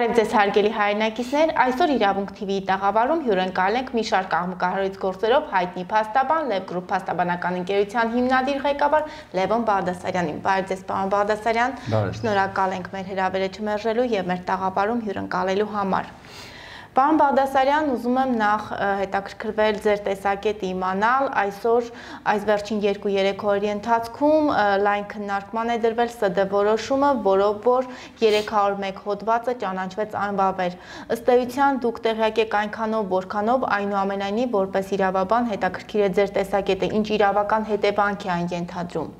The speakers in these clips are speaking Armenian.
Բարև ձեզ հարգելի հայրենակիցներ, այսօր Իրավունք TV-ի տաղավարում հյուրընկալ ենք մի շարք աղմկահարույց գործերով հայտնի փաստաբան, Լև գրուպ փաստաբանական ընկերության հիմնադիր ղեկավար Լևոն Բաղդասարյանին։ Բարև ձեզ, պարոն Բաղդասարյան, շնորհակալ ենք մեր հրավերը չմերժելու եւ մեր տաղավարում հյուրընկալելու համար։ Պարոն Բաղդասարյան, ուզում եմ նախ հետաքրքրվել ձեր տեսակետը իմանալ, այսօր այս վերջին 2-3 օրերի ընթացքում լայն քննարկման է դրվել ՍԴ որոշումը, որով որ 301 հոդվածը ճանաչվեց անվավեր։ Ըստ էության դուք տեղյակ եք այնքանով, որքանով, այնուամենայնիվ որպես իրավաբան հետաքրքիր է ձեր տեսակետը, ինչ իրավական հետևանք է այն ենթադրում։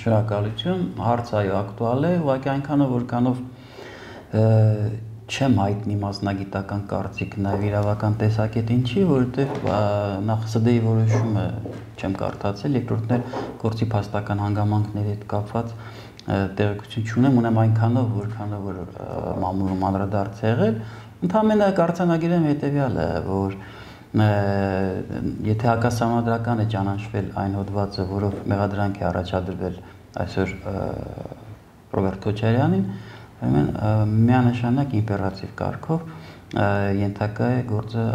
Շնորհակալություն, հարցը այո ակտուալ է, ուղղակի այնքանով, որքանով չեմ հայտնի մասնագիտական կարծիք նաև իրավական տեսակետ ինչի, որովհետև նախ ՍԴ-ի որոշումը չեմ կարդացել, երկրորդն էլ գործի փաստական հանգամանքների հետ կապված տեղեկություն չունեմ, ունեմ այնքանով, որքանով որ մամուլում անդրադարձ է եղել, ընդհանրապես կարձանագրեմ հետևյալը, որ եթե հակասահմանադրական է ճանաչվել այն հոդվածը, որով մեղադրանք է առաջադրվել այսօր Ռոբերտ Քոչարյանին, միանշանակ իմպերատիվ կարգով ենթակա է գործը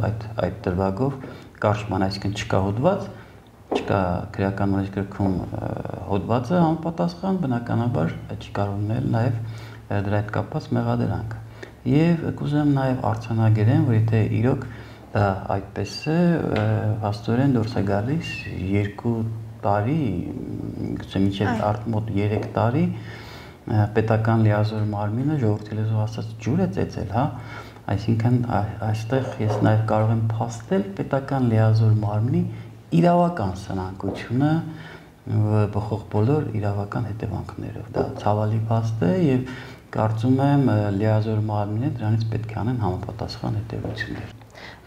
այդ դրվագով կարճման, այսինքն չկա հոդված, չկա քրեական օրենսգրքում հոդվածը համապատասխան, բնականաբար չի կարող լինել նաև դրա հետ կապված մեղադրանք։ Եվ կուզեմ նաև արձանագրեմ, որ եթե իրոք դա այդպես է, հաստորեն դուրս է գալիս 2 տարի, գուցե մինչև մոտ 3 տարի պետական լիազոր մարմինը ժողովրդի լեզվով ասած ջուր է ծեծել, հա, այսինքն այստեղ ես նաև կարող եմ փաստել պետական լիազոր մարմնի իրավական սնանկությունը բխող բոլոր իրավական հետևանքներով։ Դա ցավալի փաստ է եւ կարծում եմ լիազոր մարմինը դրանից պետք է անեն համապատասխան հետևություններ։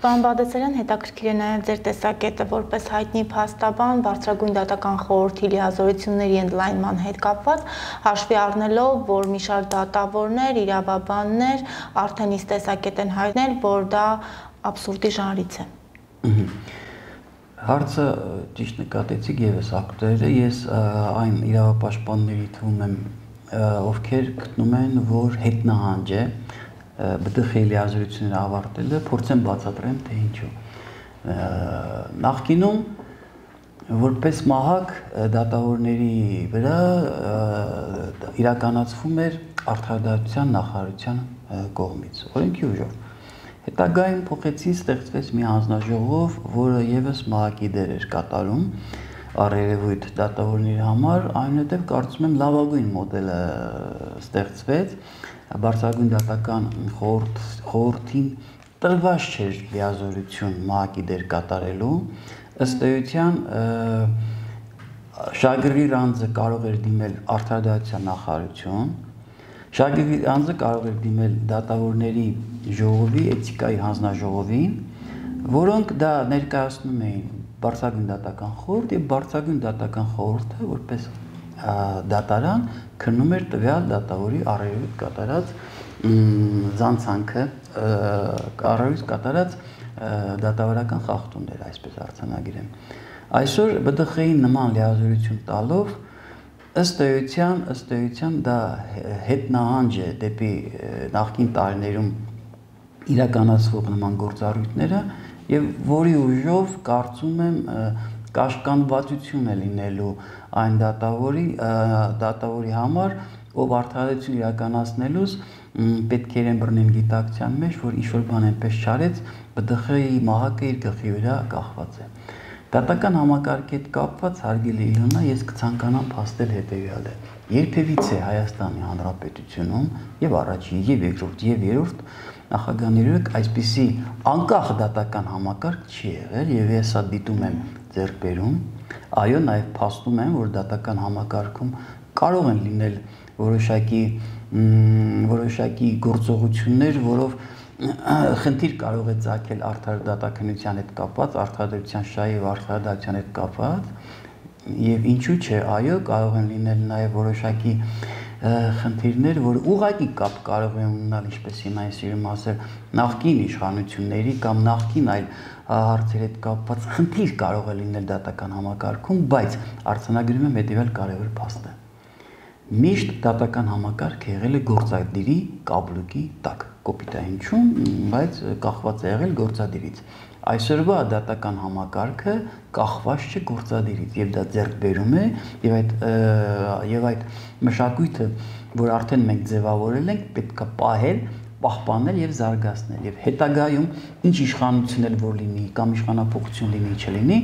Պարոն Բաղդասարյան, հետաքրքիր է նաև ձեր տեսակետը որպես հայտնի փաստաբան, բարձրագույն դատական խորհրդի լիազորությունների ընդլայնման հետ կապված, հաշվի առնելով, որ մի շարք դատավորներ, իրավաբաններ արդեն իսկ տեսակետ են հայտնել, որ դա աբսուրդի ժանրից է։ Հարցը ճիշտ նկատեցիք եւս ակտուալ է, ես այն իրավապաշտպանների թվում եմ, ովքեր գտնում են, որ հետնահանջ է ԲՏԽ-ի լիազորությունները ավարտելը, փորձեմ բացատրեմ, թե ինչու։ Նախկինում որպես մահակ դատավորների վրա իրականացվում էր արդարադատության նախարարության կողմից, օրենքի ուժով։ Հետագայում փոխեցին, ստեղծվեց մի հանձնաժողով, որը եւս մահակի դեր էր կատարում առերևույթ դատավորների համար, այնուհետև կարծում եմ լավագույն մոդելը ստեղծվեց, բարձրագույն դատական խորհրդին տրված չէր լիազորություն մահակի դեր կատարելու, ըստ էության շագրի անձը կարող էր դիմել արդարադատության նախարարություն, շագրի անձը կարող էր դիմել դատավորների ժողովի, էթիկայի հանձնաժողովին, որոնք դա ներկայացնում էին բարձրագույն դատական խորհուրդ եւ բարձրագույն դատական խորհուրդը որպես դատարան քննում էր տվյալ դատավորի առերևույթ կատարած զանցանքը, առերևույթ կատարած դատավարական խախտումներ, այսպես արձանագրեմ։ Այսօր ԲՏԽ-ին նման լիազորություն տալով ըստ էության դա հետնահանջ է դեպի նախկին տարիներում իրականացվող նման գործառույթները եւ որի ուժով կարծում եմ կաշկանդվածություն է լինելու այն դատավորի համար, ով արդարադատություն իրականացնելուց պետք է իրեն բռնեն գիտակցության մեջ, որ ինչ-որ բան այնպես չարեց, ԲՏԽ-ի մահակը իր գլխի վրա կախված է։ Դատական համակարգի հետ կապված հարգելի Իլոնա, ես կցանկանամ փաստել հետևյալը։ Երբևիցե Հայաստանի Հանրապետությունում եւ առաջին, եւ երկրորդ, եւ երրորդ նախագահների այսպիսի անկախ դատական համակարգ չի եղել եւ ես սա դիտում եմ ձեռքբերում, այո, նաև փաստում եմ, որ դատական համակարգում կարող են լինել որոշակի գործողություններ, որով խնդիր կարող է ծագել արդարադատականության հետ կապված, արդարադատության շահի եւ արդարադատության հետ կապված, եւ ինչու՞ չէ, այո, կարող են լինել նաև որոշակի խնդիրներ, որ ուղղակի կապ կարող են ունենալ, ինչպես հիմա ես սիրում ասել, նախկին իշխանությունների կամ նախկին այլ հարցերի հետ կապված խնդիր կարող է լինել դատական համակարգում, բայց արձանագրում եմ հետևյալ կարևոր փաստը։ Միշտ դատական համակարգը եղել է գործադիրի կաբլուկի տակ։ կոպիտ է հնչում, բայց կախված է եղել գործադիրից։ Այսօրվա դատական համակարգը կախված չէ գործադիրից եւ դա ձեռք բերում է եւ այդ մշակույթը, որ արդեն մենք ձևավորել ենք, պետքա պահել, պահպանել եւ զարգացնել եւ հետագայում ինչ իշխանություն էլ որ լինի կամ իշխանապողություն լինի չլինի,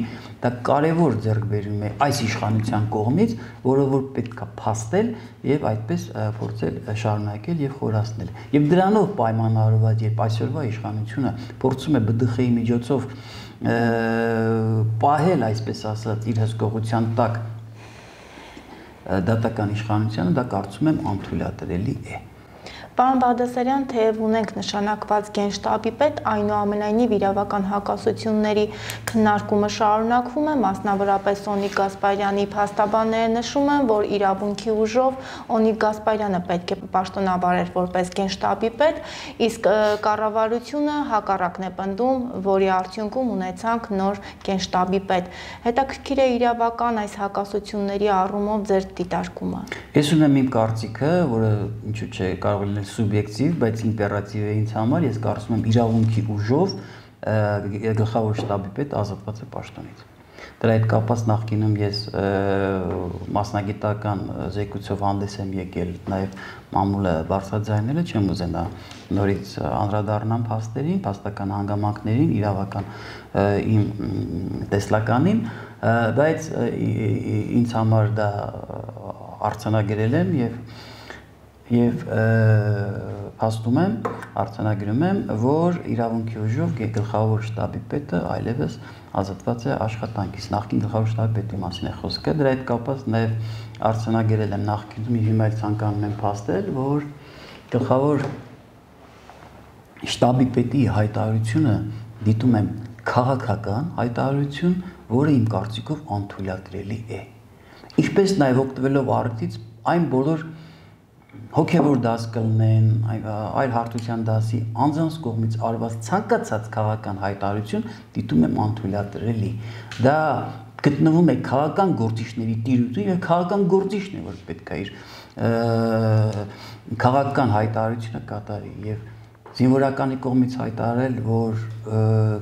դա կարևոր ձեռքբերում է այս իշխանության կողմից, որը որ պետքա փաստել եւ այդպես փորձել շարունակել եւ խորացնել։ Եվ դրանով պայմանավորված, երբ այսօրվա իշխանությունը փորձում է ԲԴԽ-ի միջոցով պահել, այսպես ասած, իր հսկողության տակ դատական իշխանությանը, դա կարծում եմ անթույլատրելի է։ Պարոն Բաղդասարյան, թեև ունենք նշանակված գենշտաբի պետ, այնուամենայնիվ իրավական հակասությունների քննարկումը շարունակվում է, մասնավորապես Օնիկ Գասպարյանի փաստաբանները նշում են, որ իրավունքի ուժով Օնիկ Գասպարյանը պետք է պաշտոնավարեր որպես գենշտաբի պետ, իսկ կառավարությունը հակառակն է պնդում, որի արդյունքում ունեցանք նոր գենշտաբի պետ։ Հետաքրքիր է իրավական այս հակասությունների առումով ձեր դիտարկումը։ Ես ունեմ իմ կարծիքը, որը ինչու՞ չէ կարող է սուբյեկտիվ, բայց իմպերատիվ է ինձ համար, ես կարծում եմ իրավունքի ուժով գլխավոր շտաբի պետ ազատված է պաշտոնից։ Դրա հետ կապված նախկինում ես մասնագիտական զեկույցով հանդես եմ եկել, նաև մամուլը բարձրաձայնել է, չեմ ուզենա նորից անդրադառնամ փաստերին, փաստական հանգամանքներին, իրավական իմ տեսլականին, բայց ինձ համար դա արձանագրել եմ եւ փաստում եմ, արձանագրում եմ, որ իրավունքի ուժով գլխավոր շտաբի պետը այլևս ազատված է աշխատանքից։ Նախկին գլխավոր շտաբի պետի մասին է խոսքը, դրա հետ կապված նաեւ արձանագրել եմ նախկինում, հիմա էլ ցանկանում եմ փաստել, որ գլխավոր շտաբի պետի հայտարարությունը դիտում եմ քաղաքական հայտարարություն, որը իմ կարծիքով անթույլատրելի է։ Ինչպես նաեւ օգտվելով առիթից այն բոլոր հոգևոր դաս կլինեն, այլ հարթության դասի անձանց կողմից արված ցանկացած քաղաքական հայտարարություն դիտում եմ անթույլատրելի։ Դա գտնվում է քաղաքական գործիչների տիրույթում եւ քաղաքական գործիչն է, որ պետք է իր քաղաքական հայտարարությունը կատարի եւ զինվորականի կողմից հայտարարել, որ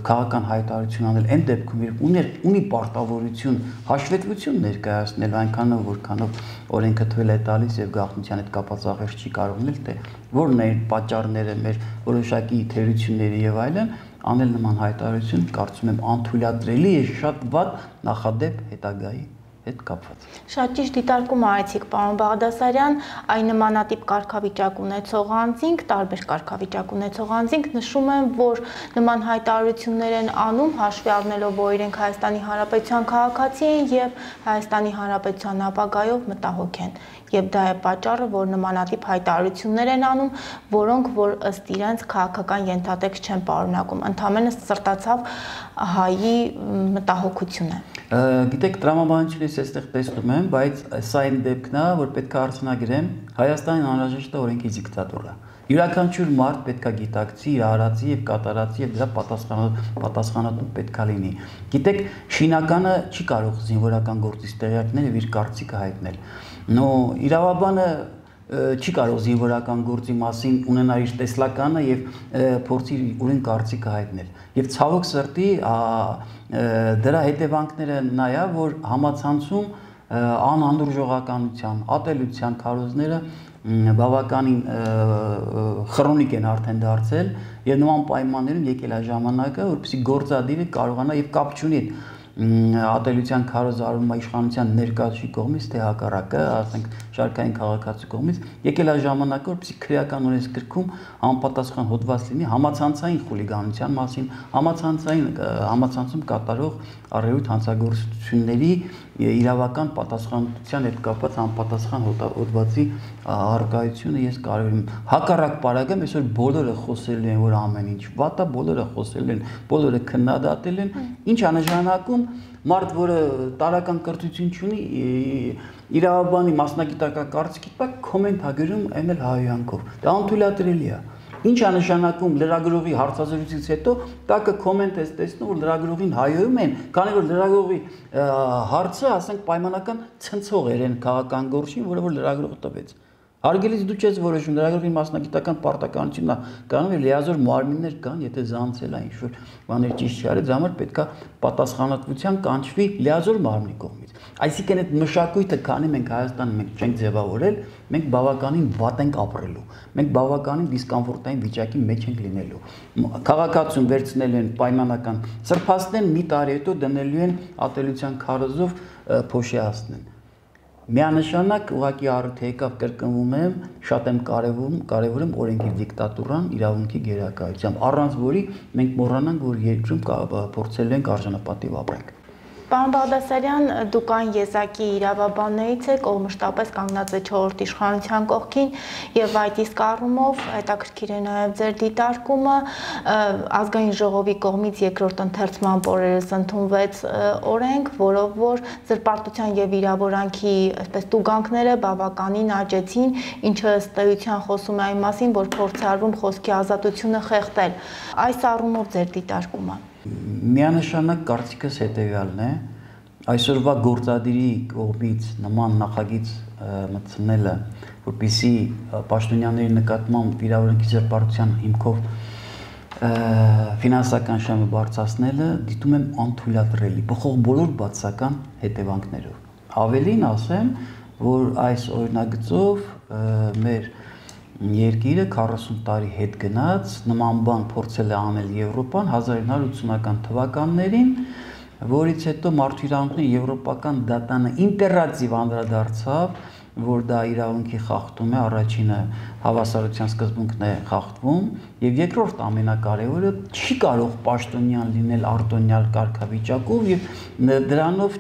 քաղաքական հայտարարություն անել այն դեպքում, երբ ունի պարտավորություն հաշվետվություն ներկայացնել այնքանով, որքանով օրենքը թույլ է տալիս եւ գաղտնիության հետ կապված աղերս չի կարող լինել, թե որն է պատճառները մեր որոշակի թերությունների եւ այլն, անել նման հայտարարություն կարծում եմ անթույլատրելի է շատ վատ նախադեպ հետագայի հետ կապված։ Շատ ճիշտ դիտարկում արեցիք, պարոն Բաղդասարյան, այն նմանատիպ կարգավիճակ ունեցող անձինք, տարբեր կարգավիճակ ունեցող անձինք նշում են, որ նման հայտարարություններ են անում, հաշվի առնելով, որ իրենք Հայաստանի Հանրապետության քաղաքացի են եւ Հայաստանի Հանրապետության ապագայով մտահոգ են։ Եվ դա է պատճառը, որ նմանատիպ հայտարարություններ են անում, որոնք որ ըստ իրենց քաղաքական ենթատեքստ չեն պարունակում, ընդհանրապես սրտացավ հայի մտահոգություն է։ Գիտեք, տրամաբանությունից այստեղ տեսնում եմ, բայց սա իմ դեպքն է, որ պետք է արձանագրեմ, Հայաստանին անհրաժեշտ է օրենքի դիկտատուրա։ Յուրաքանչյուր մարդ պետք է գիտակցի իր արածի եւ կատարածի եւ դրա պատասխանատու պետք է լինի։ Գիտեք, շինականը չի կարող զինվորական գործից տեղյակներ եւ իր կարծիքը հայտնել։ Իրավաբանը չի կարող զինվորական գործի մասին ունենալ իր տեսլականը եւ փորձի ուրույն կարծիքը հայտնել։ Եվ ցավոք սրտի դրա հետևանքները նա է, որ համացանցում անհանդուրժողականության, ատելության քարոզները բավականին քրոնիկ են արդեն դարձել եւ նման պայմաններում եկել է ժամանակը, որպեսզի գործադիրը կարողանա եւ կապ չունի ատելության քարոզարումը իշխանության ներկայացուցիչի կողմից, թե հակառակը, ասենք շարքային քաղաքացու կողմից, եկել է ժամանակը, որպեսզի քրեական օրենսգրքում համապատասխան հոդված լինի համացանցային խուլիգանության մասին, համացանցում կատարող առերույթ հանցագործությունների իրավական պատասխանատվության հետ կապված համապատասխան հոդվածի առկայությունը ես կարևոր եմ։ Հակառակ պարագայում այսօր բոլորը խոսել են, որ ամեն ինչ վատ է, բոլորը խոսել են, բոլորը քննադատել են, ինչ է նշանակում մարդ, որը տարական կրթություն չունի, իրավաբանի մասնագիտական կարծիքի տակ կոմենտ է գրում այն էլ հայհոյանքով։ Դա անթույլատրելի է։ Ինչ է նշանակում լրագրողի հարցազրույցից հետո տակը կոմենտ ես տեսնում, որ լրագրողին հայհոյում են, քանի որ լրագրողի հարցը, ասենք, պայմանական ցնցող էր այն քաղաքական գործին, որը որ լրագրողը տվեց։ Հարգելից դու չես որոշում, լրագրողի մասնագիտական պարտականությունն է կանում եւ լիազոր մարմիններ կան, եթե զանցել է ինչ-որ բաներ ճիշտ չարել, դրա համար պետքա պատասխանատվության կանչվի լիազոր մարմնի կողմից։ Այսինքն այդ մշակույթը, քանի մենք Հայաստանում մենք չենք ձևավորել, մենք բավականին վատ ենք ապրելու։ Մենք բավականին դիսկոմֆորտային վիճակի մեջ ենք լինելու։ Քաղաքացուն վերցնելու են պայմանական սրբացնեն, մի տարի հետո դնելու են ատելության քարոզով փոշիացնեն։ Միանշանակ ուղղակի առիթ եկավ կրկնվում եմ, շատ եմ կարևորում օրենքի դիկտատուրան, իրավունքի գերակայությամբ, առանց որի մենք մոռանանք, որ երկրում փորձելու ենք արժանապատիվ ապրենք։ Պարոն Բաղդասարյան, դուք այն եզակի իրավաբաններից եք, ով մշտապես կանգնած է 4-րդ իշխանության կողքին եւ այդ իսկ առումով հետաքրքիր է նաեւ ձեր դիտարկումը ազգային ժողովի կողմից երկրորդ ընթերցման օրերս ընդունվեց օրենք, որով որ զրպարտության եւ վիրավորանքի այսպես տուգանքները բավականին աճեցին, ինչը ըստ էության խոսում է այն մասին, որ փորձ է արվում խոսքի ազատությունը խեղդել։ Այս առումով ձեր դիտարկումը Միանշանակ կարծիքս հետևյալն է, այսօրվա գործադիրի կողմից նման նախագիծ մտցնելը, որպեսզի պաշտոնյաների նկատմամբ վիրավորանքի զրպարտության հիմքով ֆինանսական շահը բարձրացնելը դիտում եմ անթույլատրելի, բոլոր բացասական հետևանքներով։ Ավելին ասեմ, որ այս օրինագծով մեր երկիրը 40 տարի հետ գնաց, նման բան փորձել է անել Եվրոպան 1980-ական թվականներին, որից հետո մարդու իրավունքների եվրոպական դատանը ինտերատիվ անդրադարձավ, որ դա իրավունքի խախտում է, առաջինը հավասարության սկզբունքն է խախտվում, եւ երկրորդ ամենակարևորը չի կարող պաշտոնյան լինել արտոնյալ կարգավիճակով եւ դրանով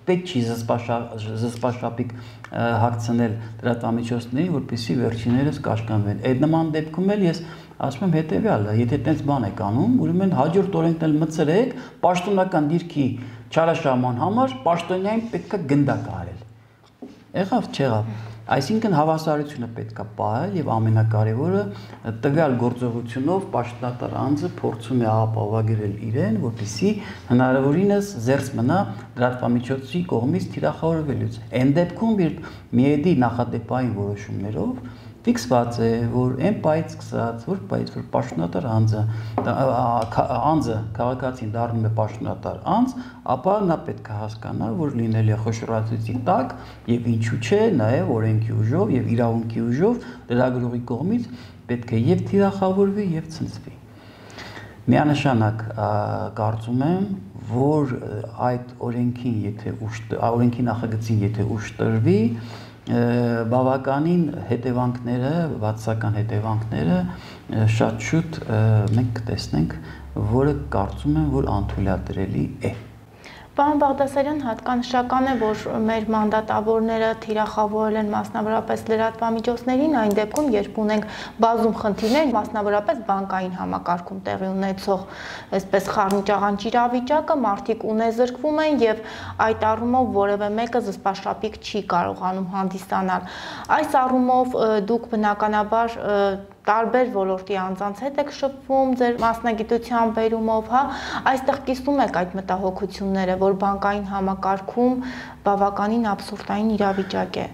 պետք չի զսպաշապիկ հագցնել դրամատուրգիաներին, որպեսզի վերջիներս կաշկանդվեն։ Այդ նման դեպքում էլ ես ասում եմ հետեւյալը, եթե այդպես բան եք անում, ուրեմն հաջորդ օրենքն էլ մտցրեք, պաշտոնական դիրքի չարաշահման համար պաշտոնյային պետք է գնդակ արել։ Եղավ, չեղավ։ Այսինքն հավասարությունը պետք է պահել եւ ամենակարևորը տվյալ գործողությունով պաշտոնատար անձը փորձում է ապահովագրել իրեն, որպեսզի հնարավորինս զերծ մնա դրամատուրգի կողմից թիրախավորվելուց։ Այն դեպքում, երբ միեդի նախադեպային որոշումներով ֆիքսված է, որ այն պայից սկսած, որ պաշտոնատար անձը քաղաքացին դառնում է պաշտոնատար անձ, ապա նա պետք է հասկանա, որ լինել է խոշորացուցի տակ եւ ինչու՞ չէ, նաեւ օրենքի ուժով եւ իրավունքի ուժով լրագրողի կողմից պետք է եւ թիրախավորվի եւ ցնցվի։ Միանշանակ կարծում եմ, որ այդ օրենքի նախագծին եթե ուժ տրվի, բավականին հետևանքները, բացասական հետևանքները շատ շուտ մենք կտեսնենք, որը կարծում եմ, որ անթույլատրելի է։ Պարոն Բաղդասարյան, հատկանշական է, որ մեր մանդատավորները թիրախավորել են մասնավորապես լրատվամիջոցներին, այն դեպքում, երբ ունենք բազում խնդիրներ, մասնավորապես բանկային համակարգում տեղի ունեցող այսպես խառնիճաղանճ իրավիճակը, մարդիկ ունեզրկվում են եւ այդ առումով որևէ մեկը զսպաշապիկ չի կարողանում հանդիսանալ։ Այս առումով դուք բնականաբար տարբեր ոլորտի անձանց հետ եք շփվում ձեր մասնագիտության բերումով, հա, այստեղ կիսում եք այդ մտահոգությունները, որ բանկային համակարգում բավականին աբսուրդային իրավիճակ է։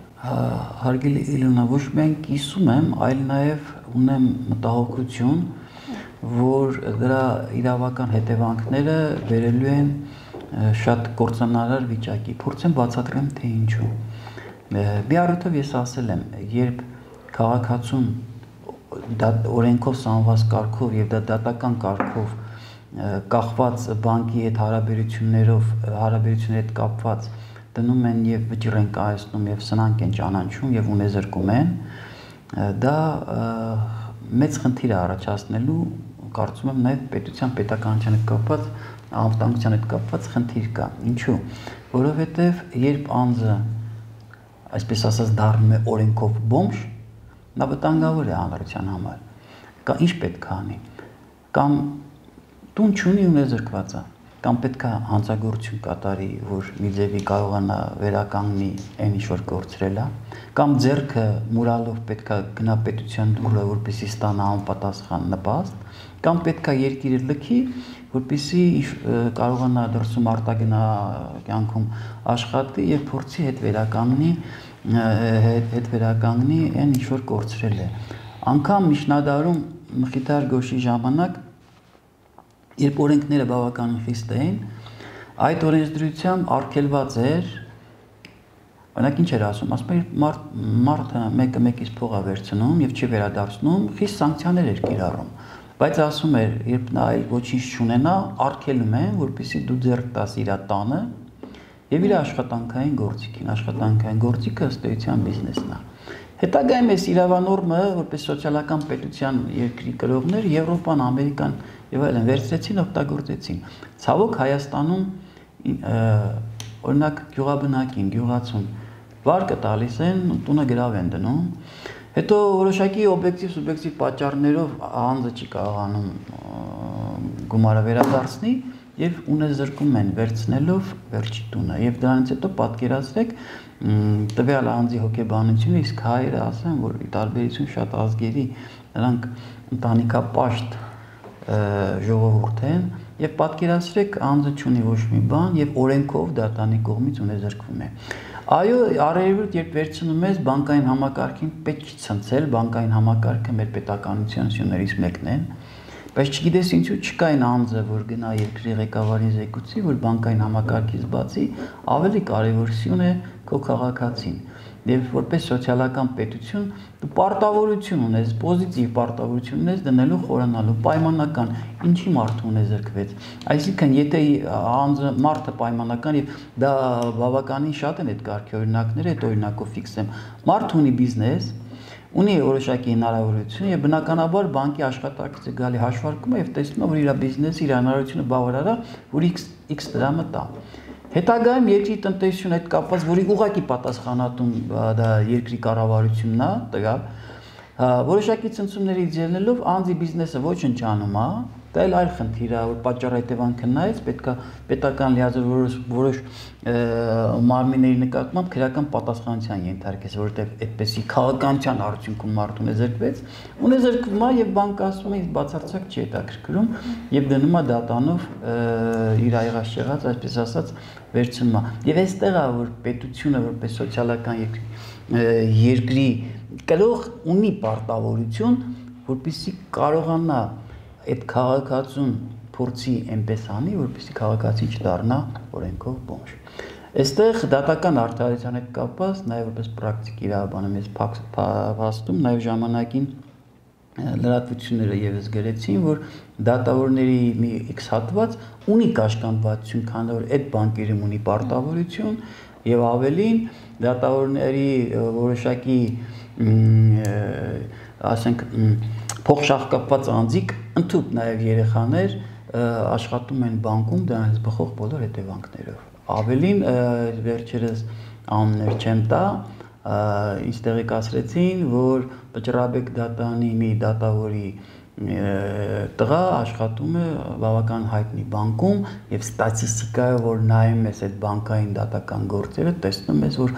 Հարգելի Իլոնա, ոչ միայն կիսում եմ, այլ նաև ունեմ մտահոգություն, որ դրա իրավական հետևանքները վերելու են շատ կործանարար վիճակի։ Փորձեմ բացատրեմ, թե ինչու։ Մի առիթով ես ասել եմ, երբ քաղաքացուն օրենքով սահմանված կարգով եւ դա դատական կարգով կախված բանկի հետ հարաբերությունների հետ կապված դնում են եւ վճիռ են կայացնում եւ սնանկ են ճանաչում եւ ունեզրկում են, դա մեծ խնդիր է առաջացնելու, կարծում եմ նաեւ պետության պետականության հետ կապված, անվտանգության հետ կապված խնդիր կա։ Ինչու՞։ Որովհետեւ երբ անձը, այսպես ասած, դառնում է օրենքով բոմժ, նա վտանգավոր է հանրության համար։ Կա ինչ պետք է անի։ Կամ տուն չունի ունեզրկված է, կամ պետք է հանցագործություն կատարի, որ մի ձևի կարողանա վերականգնի այն ինչ որ կորցրել է, կամ ձեռքը մուրալով պետք է գնա պետության դուռը, որպեսզի ստանա անպատասխան նպաստ, կամ պետք է երկիրը լքի, որպեսզի կարողանա դրսում արտագնա կյանքում աշխատի եւ փորձի հետ վերականգնի հետ վերականգնի այն ինչ որ կորցրել է։ Անկամ միջնադարում Մխիթար Գոշի ժամանակ, երբ օրենքները բավականին խիստ էին, այդ օրենսդրությամբ արգելված էր, օրինակ ինչ էր ասում, ասում էր մարդը մեկը մեկից փող է վերցնում եւ չի վերադարձնում, խիստ սանկցիաներ էր կիրառում, բայց ասում էր, երբ նա այլ ոչինչ չունենա, արգելում են, որպեսզի դու ձեռք տաս իր տանը եւ իր աշխատանքային գործիքին, աշխատանքային գործիքը ըստ էության բիզնեսն է։ Հետագայում այս իրավանորմը, որպես սոցիալական պետության երկրի կրողներ, Եվրոպան, Ամերիկան եւ այլն վերցրեցին, օգտագործեցին։ Ցավոք Հայաստանում օրինակ գյուղաբնակին, գյուղացուն վարկը տալիս են, տունը գրավ են դնում, հետո որոշակի օբյեկտիվ սուբյեկտիվ պատճառներով անձը չի կարողանում գումարը վերադարձնի եւ ունեզրկում են վերցնելով վերջի տունը եւ դրանից հետո պատկերացրեք տվյալ անձի հոգեբանությունը, իսկ հայերը ասեն, որ ի տարբերություն շատ ազգերի նրանք ընտանիքապաշտ ժողովուրդ են եւ պատկերացրեք անձը չունի ոչ մի բան եւ օրենքով դատարանի կողմից ունեզրկվում է։ Այո, արևելք երբ վերցնում ես բանկային համակարգին պետք չի ցնցել, բանկային համակարգը մեր պետականության ուսումներից մեկն է, բայց չգիտես ինչու չկա այն անձը, որ գնա երկրի ղեկավարի զեկուցի, որ բանկային համակարգից բացի ավելի կարևոր սյուն է քո քաղաքացին։ Եվ որպես սոցիալական պետություն դու պարտավորություն ունես, պոզիտիվ պարտավորություն ունես դնելու խորանալու պայմանական, ինչի մարդը ունեզրկվեց։ Այսինքն, եթե անձը մարդը պայմանական եւ դա բավականին շատ են այդ կարգի օրինակները, այդ օրինակով ֆիքսեմ։ Մարդը ունի բիզնես, ունի որոշակի հնարավորություն եւ բնականաբար բանկի աշխատակիցը գալի հաշվարկում է եւ տեսնում է, որ իր բիզնեսի իր հնարավորությունը բավարար է, որ X դրամը տա։ Հետագայում երկրի տնտեսությունը հետ կապված, որի ուղղակի պատասխանատուն դա երկրի կառավարությունն է, տղա, որոշակի ցնցումներից ելնելով անձի բիզնեսը ոչնչանում է, դա էլ այլ խնդիր է, որ պատճառ-հետևանքը նայած պետքա պետական լիազոր որոշ մարմինների նկատմամբ քրեական պատասխանատվության ենթարկես, որովհետև այդպեսի քաղաքականության արդյունքում մարդուն ունեզրկվում է եւ բանկը ասում է, իսկ բացարձակ չի հետաքրքրում եւ դնում է դատանով իր եղած, այսպես ասած, վերցնում է։ Եվ այստեղ է, որ պետությունը որպես սոցիալական երկրի կրող ունի պարտավորություն, որպեսզի կարողանա այդ քաղաքացուն փորձի այնպես անի, որպեսզի քաղաքացի չդառնա օրենքով բոմժ։ Այստեղ դատական արդարության հետ կապված, նաև որպես պրակտիկ իրավաբանը մեզ փաստում, նաև ժամանակին լրատվությունները եւս գրեցին, որ դատավորների մի X հատված ունի կաշկանդվածություն, քանի որ այդ բանկերում ունի պարտավորություն եւ ավելին դատավորների որոշակի ասենք փոխշահկապված անձիկ, ընդհանուր նաև երեխաներ աշխատում են բանկում դրանից բխող բոլոր հետևանքներով։ Ավելին վերջերս անուններ չեմ տա, ինձ տեղեկացրեցին, որ Բջրաբեկ դատանի մի դատավորի տղա աշխատում է բավական հայտնի բանկում եւ ստատիստիկայով որ նայում ես այդ բանկային դատական գործերը, տեսնում ես, որ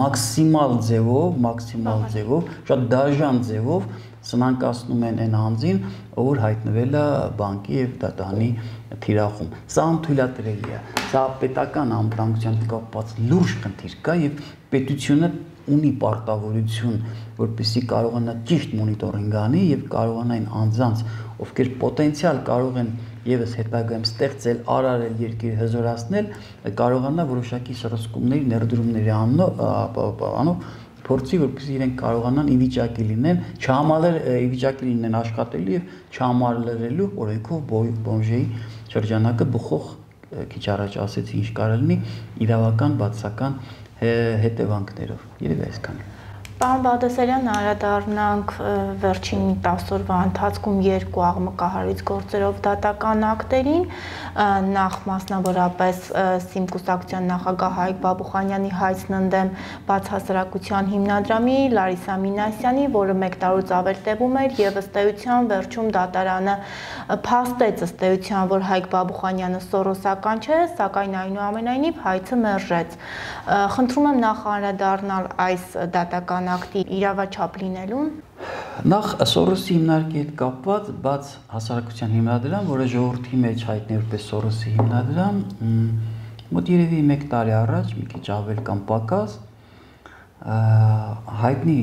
մաքսիմալ ձևով, շատ դաժան ձևով սնանկացնում են այն անձին, որ հայտնվել է բանկի եւ դատանի թիրախում։ Սա անթույլատրելի է։ Սա պետական անվտանգության հետ կապված լուրջ խնդիր կա եւ պետությունը ունի պարտավորություն, որպեսզի կարողանա ճիշտ մոնիտորինգ անի եւ կարողանա այն անձանց, ովքեր պոտենցիալ կարող են եւս հետագայում ստեղծել, արարել երկիր հզորացնել, կարողանա որոշակի սրսկումների, ներդրումների անով փորձի, որպեսզի իրենք կարողանան ի վիճակի լինեն, ի վիճակի լինեն աշխատելու եւ չհամալրելու օրենքով բոմժեի շրջանակը բխող քիչ առաջ ասեցի ինչ կարող լինի իրավական բացական հետևանքներով։ Երևի այսքանը։ Պարոն Բաղդասարյան, անդրադառնանք վերջին 10 օրվա ընթացքում երկու աղմկահարույց գործերով դատական ակտերին, նախ մասնավորապես ՍԻՄ կուսակցության նախագահ Հայկ Բաբուխանյանի հայցն ընդդեմ բացահասարակության հիմնադրամի Լարիսա Մինասյանի, որը 1 տարուց ավել տևում էր եւ ըստ էության վերջում դատարանը փաստեց ըստ էության, որ Հայկ Բաբուխանյանը սորոսական չէ, սակայն այնուամենայնիվ հայցը մերժեց։ Խնդրում եմ նախ անդրադառնալ այս դատական ակտի իրավաչափ լինելուն։ Նախ Սորոսի հիմնարկի հետ կապված բաց հասարակության հիմնադրամ, որը ժողովրդի մեջ հայտնի որպես Սորոսի հիմնադրամ, մոտ երևի 1 տարի առաջ, մի քիչ ավել կամ պակաս, հայտնի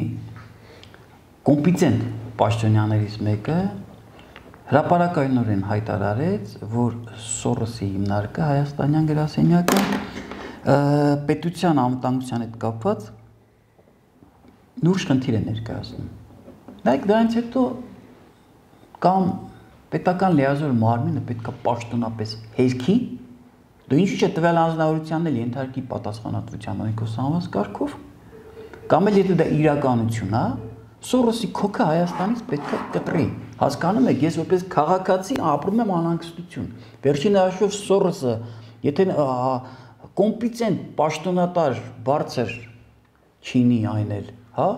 կոմպետենտ պաշտոնյաներից մեկը հրապարակայնորեն հայտարարեց, որ Սորոսի հիմնարկը հայաստանյան գրասենյակը պետության անվտանգության հետ կապված լուրջ խնդիր է ներկայացնում։ Նայեք, դրանից հետո կամ պետական լիազոր մարմինը պետք է պաշտոնապես հերքի, դու ինչու՞ չէ տվյալ անձնավորությանն էլ ենթարկի պատասխանատվության օրենքով սահմանված կարգով, կամ էլ եթե դա իրականություն է, Սորոսի քոքը Հայաստանից պետք է կտրի։ Հասկանում եք, ես որպես քաղաքացի ապրում եմ անհանգստություն։ Վերջին հաշվով Սորոսը, եթե կոմպետենտ պաշտոնատար բարձր չինի այն էլ, հա,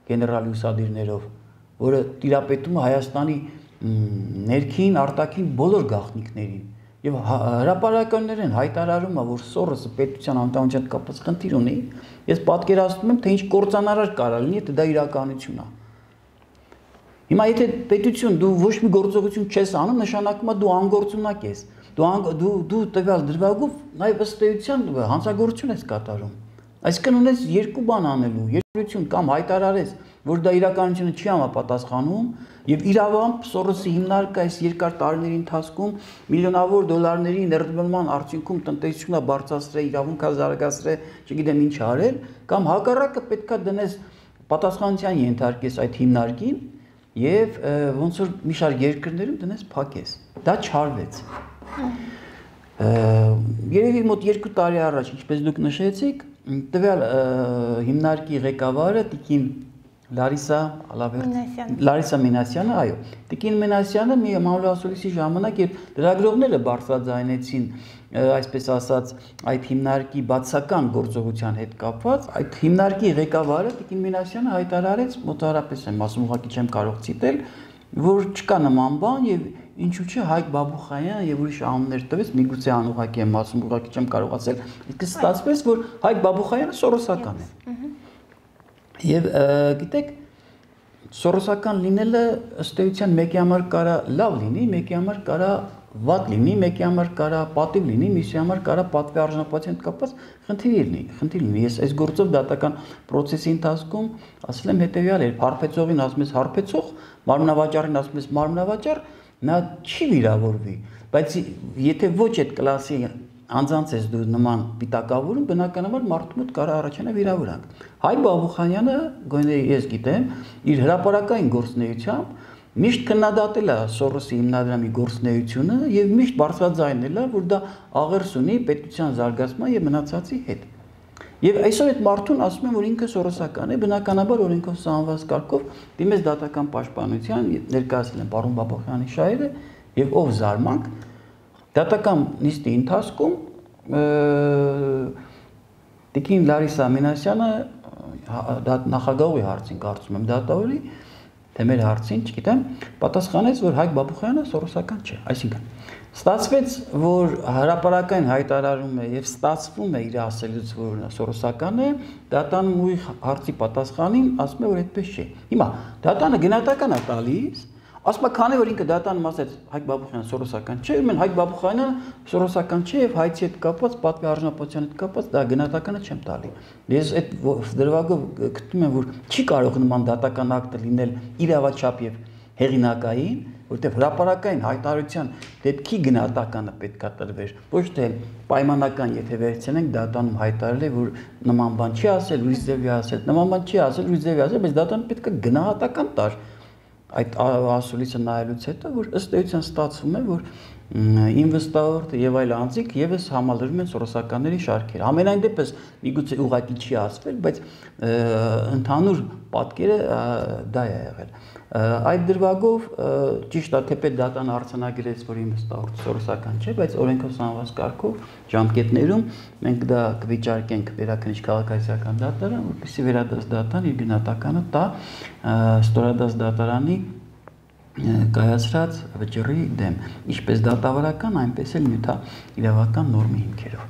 գեներալ ուսադիրներով, որը տիրապետում է Հայաստանի ներքին, արտաքին բոլոր գաղտնիքներին, եւ հրապարակայիններեն հայտարարում է, որ Սորոսը պետության անվտանգության հետ կապված խնդիր ունի, ես պատկերացնում եմ, թե ինչ կործանարար կարա լինի, եթե դա իրականություն է։ Հիմա եթե պետություն դու ոչ մի գործողություն չես անում, նշանակում է դու անգործունակ ես։ Դու տվյալ դրվագով նաև ըստ էության հանցագործություն ես կատարում։ Այսինքն ունես երկու բան անելու, երկրություն կամ հայտարարես, որ դա իրականությունը չի համապատասխանում, եւ իրավամբ Սորոսի հիմնարկը այս երկար տարիների ընթացքում միլիոնավոր դոլարների ներդրման արդյունքում տնտեսությունը բարձրացրել, իրավունքը զարգացրել, չգիտեմ ինչ արել, կամ հակառակը պետքա դնես պատասխանատվության ենթարկես այդ հիմնարկին եւ ոնց որ մի շարք երկրներում դնես փակես։ Դա չարվեց։ Երևի մոտ 2 տարի առաջ, ինչպես դուք նշեցիք, տվյալ հիմնարկի ղեկավարը Տիկին Լարիսա Մինասյանը, այո, Տիկին Մինասյանը մի մամուլի ժամանակ, երբ լրագրողները բարձրաձայնեցին, այսպես ասած, այդ հիմնարկի բացական գործողության հետ կապված, այդ հիմնարկի ղեկավարը Տիկին Մինասյանը հայտարարեց, մոտավորապես եմ ասում, ուղղակի չեմ կարող ցիտել, որ չկա նման բան եւ ինչու՞ չէ Հայկ Բաբուխանյանը եւ ուրիշ անուններ տվեց, միգուցե անուղղակի եմ ասում, ուղղակի չեմ կարող ասել, իսկ ստացվեց, որ Հայկ Բաբուխանյանը սորոսական է։ Եվ գիտեք, սորոսական լինելը ըստ էության մեկի համար կարա լավ լինի, մեկի համար կարա վատ լինի, մեկի համար կարա պատիվ լինի, մյուսի համար կարա պատվի արժանապատվության հետ կապված խնդիր լինի։ Ես այս գործով դատական process-ի ընթացքում ասել եմ հետեւյալ էր, հարբեցողին ասում ես հարբեցող, մարմնավաճառին ասում ես մարմնավաճառ, նա չի վիրավորվի, բայց եթե ոչ այդ կլասի անձանց ես դու նման պիտակավորում, բնականաբար մարդու մոտ կարա առաջանա վիրավորանք։ Հայկ Բաբուխանյանը, գոնե ես գիտեմ, իր հրապարակային գործունեությամբ միշտ քննադատել է Սորոսի հիմնադրամի գործունեությունը եւ միշտ բարձրաձայնել է, որ դա աղերս ունի պետության զարգացման եւ մնացածի հետ։ Եվ այսօր այդ մարդուն ասում են, որ ինքը սորոսական է, բնականաբար օրենքով սահմանված կարգով դիմեց դատական պաշտպանության, ներկայացրել են պարոն Բաբուխյանի շահերը եւ ով զարմանք դատական նիստի ընթացքում Տիկին Լարիսա Մինասյանը նախագահի հարցին կարծում եմ դատավորի թե մեր հարցին, չգիտեմ, պատասխանեց, որ Հայկ Բաբուխյանը սորոսական չէ։ Այսինքն, ստացվեց, որ հրապարակային հայտարարում է եւ ստացվում է իր ասելուց, որ սորոսական է, դատան ու հարցի պատասխանին ասում է, որ այդպես չէ։ Հիմա դատանը գնահատական է տալիս, ասում է, քանի որ ինքը դատանում ասեց Հայկ Բաբուխյանը սորոսական չէ, ուրեմն Հայկ Բաբուխյանը սորոսական չէ եւ հայցի հետ կապված, պատվի արժանապատվության հետ կապված դա գնահատականը չեմ տալի։ Ես այդ դրվագով գտնում եմ, որ չի կարող նման դատական ակտը լինել իրավաչափ եւ հեղինակային, որտեղ հրապարակային հայտարարության դեպքի գնահատականը պետք է տրվեր, ոչ թե պայմանական, եթե վերցնենք դատանում հայտարարել է, որ նման բան չի ասել, լույս ձևի ասել, նման բան չի ասել, լույս ձևի ասել, բայց դատանը պետք է գնահատական տար այդ ասուլիսը նայելուց հետո, որ ըստ էության ստացվում է, որ ինվեստորը եւ այլ անձիկ եւս համալրում են սորոսականների շարքերը։ Ամենայն դեպս միգուցե ուղղակի չի ասվել, բայց ընդհանուր պատկերը դա է եղել։ Այդ դրվագով ճիշտ է, թեպետ դատան արձանագրեց, որ ինվեստորը սորոսական չէ, բայց օրենքով սահմանված կարգով ժամկետներում մենք դա կվիճարկենք վերաքննիչ քաղաքացիական դատարան, որպեսզի վերադաս դատան իր գնահատականը տա ստորադաս դատարանի կայացրած վճռի դեմ, ինչպես դատավարական, այնպես էլ նյութաիրավական նորմի հիմքերով։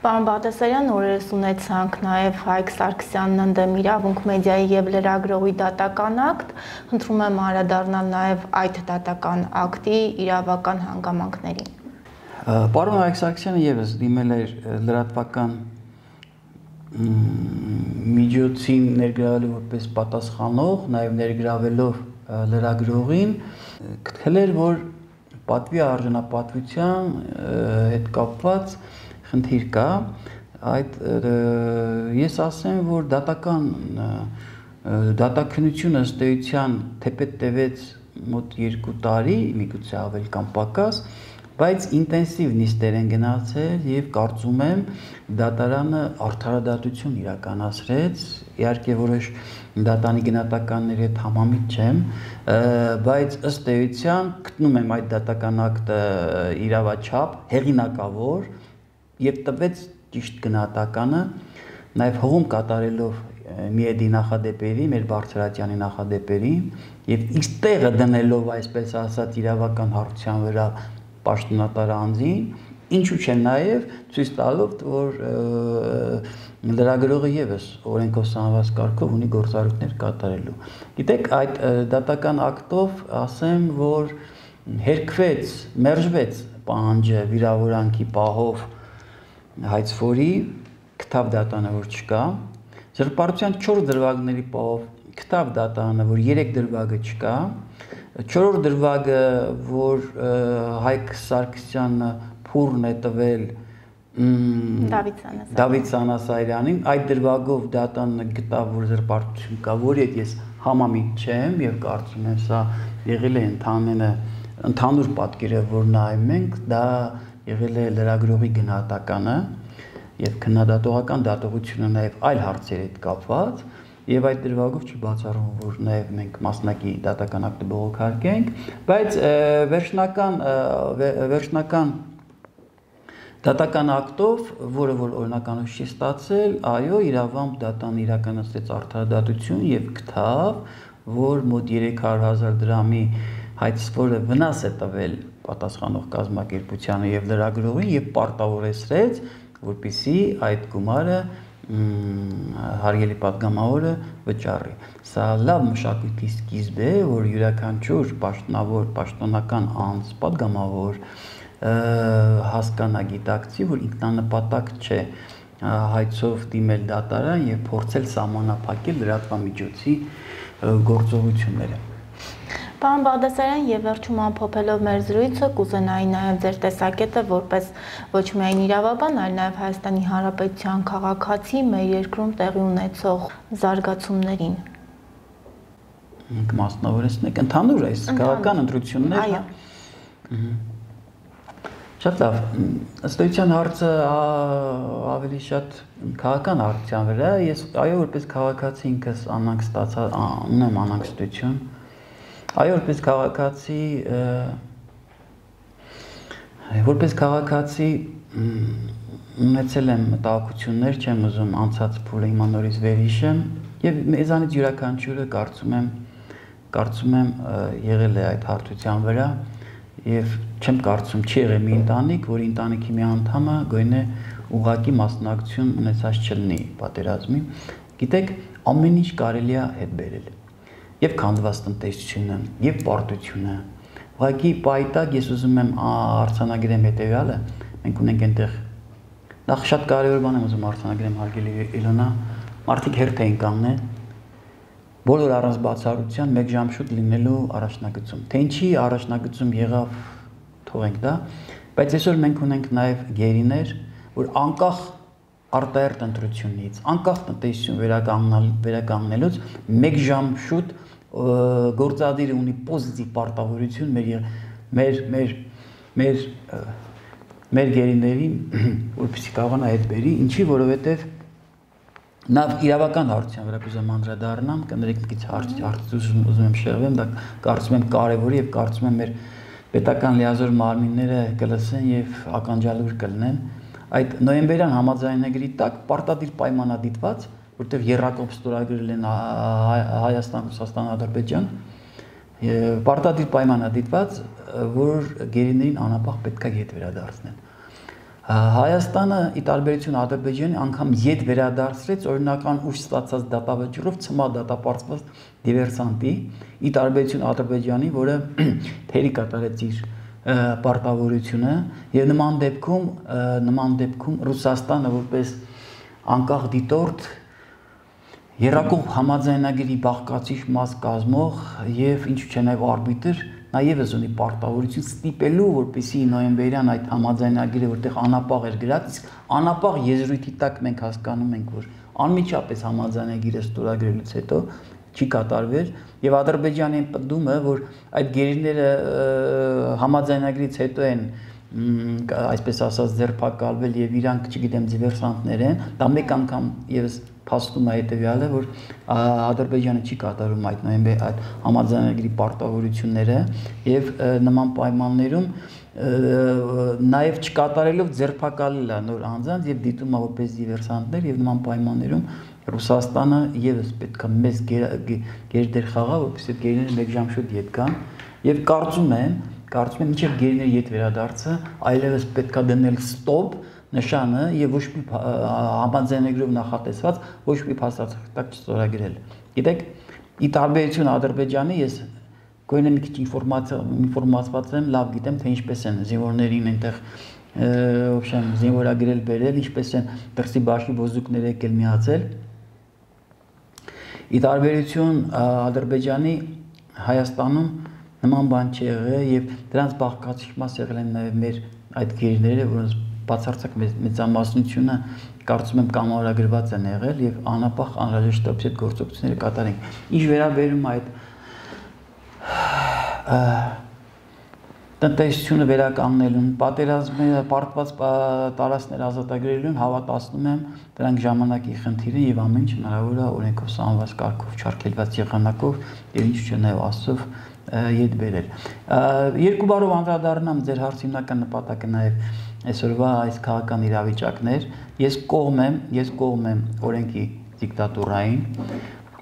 Պարոն Բաղդասարյան, օրերս ունեցանք նաև Հայկ Սարգսյանն ընդդեմ իրավունք մեդիայի եւ լրագրողի դատական ակտ, խնդրում եմ անդրադառնալ նաև այդ դատական ակտի իրավական հանգամանքներին։ Պարոն Հայկ Սարգսյանը եւս դիմել էր լրատվական միջոցին ներգրավելու որպես պատասխանող, նաև ներգրավելով լրագրողին, գտել էր, որ պատվի արժանապատվության հետ կապված խնդիր կա, ես ասեմ, որ դատաքննությունը ըստ էության թեպետ տևեց մոտ 2 տարի, միգուցե ավել կամ պակաս, բայց ինտենսիվ նիստեր են գնացել եւ կարծում եմ դատարանը արդարադատություն իրականացրեց, իհարկե որոշ դատանի գնահատականների հետ համամիտ չեմ, բայց ըստ էության գտնում եմ այդ դատական ակտը իրավաչափ, հեղինակավոր եւ տվեց ճիշտ գնահատականը, նաեւ հողում կատարելով Միեդի նախադեպերի, մեր Բարձրատյանի նախադեպերի եւ X տեղը դնելով, այսպես ասած, իրավական հարթության վրա պաշտոնատար անձին, ինչու՞ չէ նաեւ ցույց տալով, որ լրագրողը եւս օրենքով սահմանված կարգով ունի գործառույթներ կատարելու։ Գիտեք, այդ դատական ակտով ասեմ, որ հերքվեց, մերժվեց պահանջը վիրավորանքի պահով հայցվորի, գտավ դատանը, որ չկա, զրպարտության 4 դրվագների պահով գտավ դատանը, որ 3 դրվագը չկա, 4-րդ դրվագը, որ Հայկ Սարգսյանը փուրն է տվել Դավիթ Սանասարյանին, այդ դրվագով դատանը գտավ, որ զրպարտություն կա, որի հետ ես համամիտ չեմ եւ կարծում եմ սա եղել է ընդհանուր պատկերը, որ նայում ենք, դա եղել է լրագրողի գնահատականը եւ քննադատողական դատողությունը նաեւ այլ հարցերի հետ կապված եւ այդ դրվագով չի բացառում, որ նաեւ մենք մասնակի դատական ակտը բողոքարկենք, բայց վերջնական դատական ակտով, որը որ օրինականով չի ստացել, այո, իրավամբ դատան իրականացրեց արդարադատություն եւ գտավ, որ մոտ 300,000 դրամի հայցվորը վնաս է տվել պատասխանող կազմակերպությանը եւ լրագրողին եւ պարտավորեցրեց, որպեսզի այդ գումարը հարգելի պատգամավորը վճարի։ Սա լավ մշակույթի սկիզբ է, որ յուրաքանչյուր պաշտոնավոր, պաշտոնական անձ, պատգամավոր հասկանա, գիտակցի, որ ինքնանպատակ չէ հայցով դիմել դատարան եւ փորձել սահմանափակել լրատվամիջոցի գործողությունները։ Պարոն Բաղդասարյան, եւ վերջում ամփոփելով մեր զրույցը, կուզենայի նաեւ ձեր տեսակետը որպես ոչ միայն իրավաբան, այլ նաեւ Հայաստանի Հանրապետության քաղաքացի մեր երկրում տեղի ունեցող զարգացումներին։ Մենք մասնավորեցնենք ընդհանուր այս քաղաքական ընտրություններ։ Այո։ Շատ լավ, ըստ էության հարցը ավելի շատ քաղաքական հարցության վրա, ես այո, որպես քաղաքացի ինքս անանք ստացա, ունեմ անհանգստություն։ Այո, որպես քաղաքացի ունեցել եմ մտահոգություններ, չեմ ուզում անցած փուլը հիմա նորից վերհիշեմ, եւ մեզանից յուրաքանչյուրը կարծում եմ եղել է այդ հարթության վրա, եւ չեմ կարծում չի եղել մի ընտանիք, որի ընտանիքի մի անդամը գույնը ուղղակի մասնակցություն ունեցած չլինի պատերազմի։ Գիտեք, ամեն ինչ կարելի է հետ բերել։ Եվ քանդված տնտեսությունը, եւ պարտությունը։ Ուղղակի պայտակ ես ուզում եմ արձանագրեմ հետեւյալը, մենք ունենք այնտեղ նախ շատ կարևոր բան եմ ուզում արձանագրեմ, հարգելի Իլոնա, մարդիկ հերթ էին կանգնել, բոլոր առանց բացառության 1 ժամ շուտ լինելու առաջնագծում։ Թե ինչի առաջնագծում եղավ, թողենք դա, բայց այսօր մենք ունենք նաեւ գերիներ, որ անկախ արտահերտ ընտրությունից, անկախ տնտեսություն վերականգնելուց 1 ժամ շուտ գործադիրը ունի պոզիտիվ պարտավորություն մեր գերիներին, որպեսզի կարողանա հետ բերի, ինչի, որովհետև նա իրավական հարցության վրա կուզեմ անդրադառնամ, կներեք մի քիչ հարցից ուզում եմ շեղվեմ, դա կարծում եմ կարևոր է եւ կարծում եմ մեր պետական լիազոր մարմինները կլսեն եւ ականջալուր կլինեն։ Այդ նոյեմբերյան համաձայնագրի տակ պարտադիր պայմանադիտված, որտեղ եռակողմ ստորագրել են Հայաստան, Ռուսաստան, Ադրբեջան, պարտադիր պայմանադիտված, որ գերիներին անապահ պետք է ետ վերադարձնեն։ Հայաստանը ի տարբերություն Ադրբեջանի անգամ ետ վերադարձրեց օրինական ուժ ստացած դատավճռով ցմա դատապարտված դիվերսանտի, ի տարբերություն Ադրբեջանի, որը թերի կատարեց իր պարտավորությունը, եւ նման դեպքում Ռուսաստանը որպես անկախ դիտորդ երակող համաձայնագրի բաղկացիչ մաս կազմող եւ ինչու՞ չէ նաեւ արբիտր նաեւս ունի պարտավորություն ստիպելու, որպեսզի նոյեմբերյան այդ համաձայնագրը, որտեղ անապաղ էր գրած, իսկ անապաղ եզրույթի տակ մենք հասկանում ենք, որ անմիջապես համաձայնագիրը ստորագրելուց հետո չի կատարվել եւ Ադրբեջանի պնդումը, որ այդ գերիները համաձայնագրից հետո են այսպես ասած ձերբակալվել եւ իրանք, չգիտեմ, դիվերսանտներ են, դա մեկ անգամ եւս փաստում է հետեւյալը, որ Ադրբեջանը չի կատարում այդ նոյեմբեր այդ համաձայնագրի պարտավորությունները եւ նման պայմաններում նաեւ չկատարելով ձերբակալել է նոր անձանց եւ դիտում է որպես դիվերսանտներ եւ նման պայմաններում Ռուսաստանը եւս պետք է մեծ գերդեր խաղա, որպեսզի գերիները մեկ ժամ շուտ ետ գան եւ կարծում եմ մինչեւ գերիների ետ վերադարձը այլևս պետք է դնել ստոպ նշանը եւ ոչ մի համաձայնագրով նախատեսված ոչ մի փաստաթղթ չստորագրել։ Գիտեք, ի տարբերություն Ադրբեջանի ես գոնե մի քիչ ինֆորմացված եմ, լավ գիտեմ, թե ինչպես են զինվորներին այնտեղ ոբշեմ զինվորագրել բերել, ինչպես են դրսի բաշխի ոզուկները եկել միացել։ Ի տարբերություն Ադրբեջանի Հայաստանում նման բան չի եղել եւ դրանց բաղկացիչ մաս եղել են նաեւ մեր այդ գերիները, որոնց բացարձակ մեծամասնությունը կարծում եմ կամավորագրված են եղել եւ անապահ անհրաժեշտ է այդ գործողությունները կատարենք։ Ինչ վերաբերում այդ տնտեսությունը վերականգնելուն, պատերազմի պարտված տարածքներ ազատագրելուն հավատացնում եմ դրանք ժամանակի խնդիր է եւ ամեն ինչ հնարավոր է օրենքով սահմանված կարգով չարգելված եղանակով եւ ինչ չէ նաեւ աստծով ետ բերել։ Երկու բառով անդրադառնամ ձեր հարցի հիմնական նպատակը նաեւ այսօրվա այս քաղաքական իրավիճակներ, ես կողմ եմ օրենքի դիկտատուրային,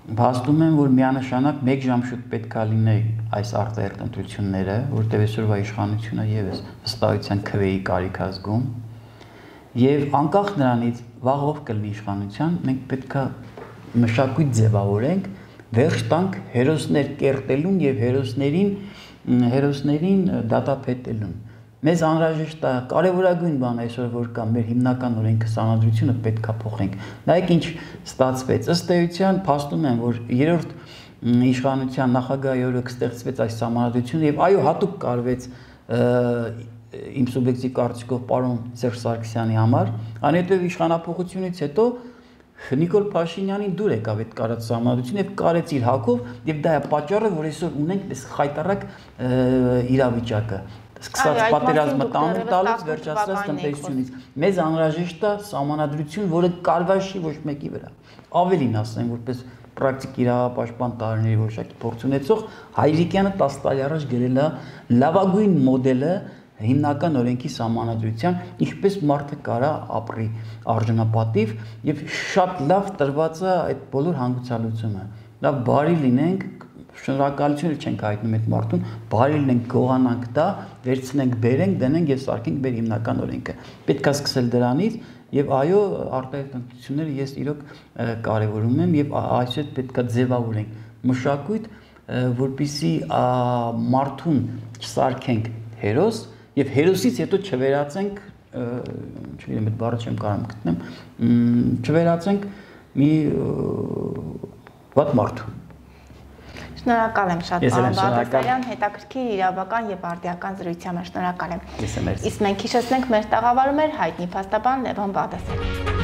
Փաստում եմ, որ միանշանակ մեկ ժամ շուտ պետք է լինի այս արտահերթ ընտրությունները, որտեղ այսօրվա իշխանությունը եւս վստահության քվեի կարիք է զգում, եւ անկախ նրանից վաղով կլինի իշխանության, մենք պետք է մշակույթ ձևավորենք, վերջ տանք հերոսներ կերտելուն եւ հերոսներին դատապետելուն։ Մեզ անհրաժեշտ է կարևորագույն բան այսօր որ կա մեր հիմնական օրենքի սահմանադրությունը պետք է փոխենք։ Նայեք ինչ ստացվեց։ Ըստ էության փաստում եմ որ երրորդ իշխանության նախագահի օրոք ստեղծվեց այս սահմանադրությունը եւ այո հատուկ կարվեց իմ սուբյեկտիվ կարծիքով պարոն Սերժ Սարգսյանի համար, այնուհետեւ իշխանապողությունից հետո Նիկոլ Փաշինյանին դուր եկավ այդ կարած սահմանադրությունը եւ կարեց իր հակով եւ դա է պատճառը որ այսօր ունենք այս խայտարակ իրավիճակը սկսած պատերազմը տալուց վերջացրած տնտեսությունից մեզ անհրաժեշտ է սահմանադրություն, որը կարվաշի ոչ մեկի վրա։ Ավելին ասեմ, որպես պրակտիկ իրավապաշտպան տարիների որոշակի փորձ ունեցող Հայրիկյանը 10 տարի առաջ գրել է լավագույն մոդելը հիմնական օրենքի սահմանադրության, ինչպես մարդը կարա ապրի արժանապատիվ եւ շատ լավ տրված է այդ բոլոր հանգուցալուծումը։ Լավ բարի լինենք շնորհակալություն չենք հայտնում այդ մարդուն, բարի լինենք, գողանանք դա, վերցնենք, բերենք, դնենք եւ սարքենք մեր հիմնական օրենքը։ Պետք է սկսել դրանից եւ այո, արտահայտ տնտեսությունները ես իրոք կարեւորում եմ եւ այսպես պետք է ձևավորենք մշակույթ, որպիսի մարդուն չսարքենք հերոս եւ հերոսից հետո չվերածենք, չգիտեմ, այդ բառը չեմ կարող գտնեմ, չվերածենք մի վատ մարդու։ Շնորհակալ եմ շատ պարոն Բաղդասարյան, հետաքրքիր իրավական եւ արդիական զրույցի համար շնորհակալ եմ։ Իսկ մենք հիշեցնենք մեր տաղավարում էր հայտնի փաստաբան Լևոն Բաղդասարյանը։